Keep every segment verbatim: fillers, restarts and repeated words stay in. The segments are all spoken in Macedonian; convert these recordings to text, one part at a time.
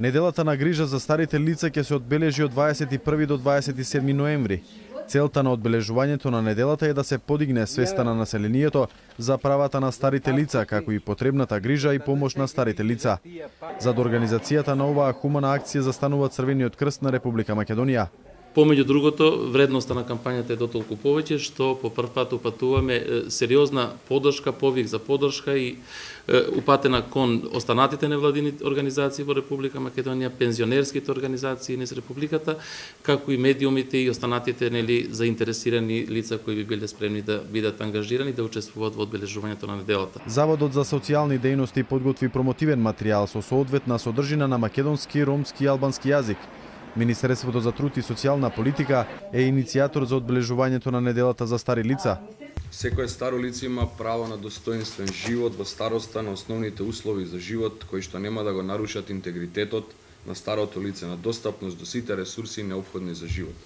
Неделата на грижа за старите лица ќе се одбележи од дваесет и први до дваесет и седми ноември. Целта на одбележувањето на неделата е да се подигне свеста на населението за правата на старите лица, како и потребната грижа и помош на старите лица. Зад организацијата на оваа хумана акција застанува Црвениот крст на Република Македонија. Помеѓу другото, вредноста на кампањата е дотолку повеќе што по прв пат упатуваме сериозна поддршка, повик за поддршка и упатена кон останатите невладини организации во Република Македонија, пензионерските организации низ Републиката, како и медиумите и останатите нели заинтересирани лица кои би биле спремни да бидат ангажирани да учествуваат во одбележувањето на неделата. Заводот за социјални дејности подготви промотивен материјал со соодветна содржина на македонски, ромски и албански јазик. Министерството за труд и социјална политика е иницијатор за одбележувањето на неделата за стари лица. Секое старо лице има право на достоинствен живот во староста, на основните услови за живот кои што нема да го нарушат интегритетот на старото лице, на достапност до сите ресурси неопходни за живот.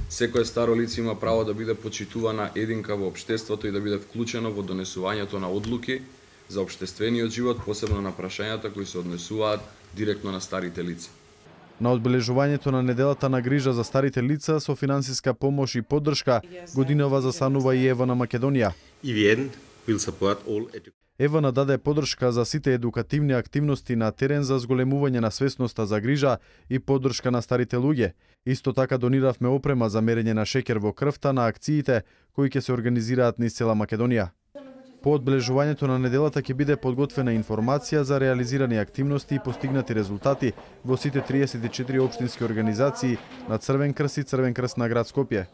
Секое старо лице има право да биде почитувана единка во општеството и да биде вклучено во донесувањето на одлуки за општествениот живот, посебно на прашањата кои се однесуваат директно на старите лица. На одбележувањето на неделата на грижа за старите лица со финансиска помош и поддршка годинава застанува и Ева на Македонија. Ева нададе поддршка за сите едукативни активности на терен за зголемување на свесноста за грижа и поддршка на старите луѓе. Исто така дониравме опрема за мерење на шеќер во крвта на акциите кои ќе се организираат низ цела Македонија. По одбележувањето на неделата ќе биде подготвена информација за реализирани активности и постигнати резултати во сите триесет и четири општински организации на Црвен крст и Црвен крст на град Скопје.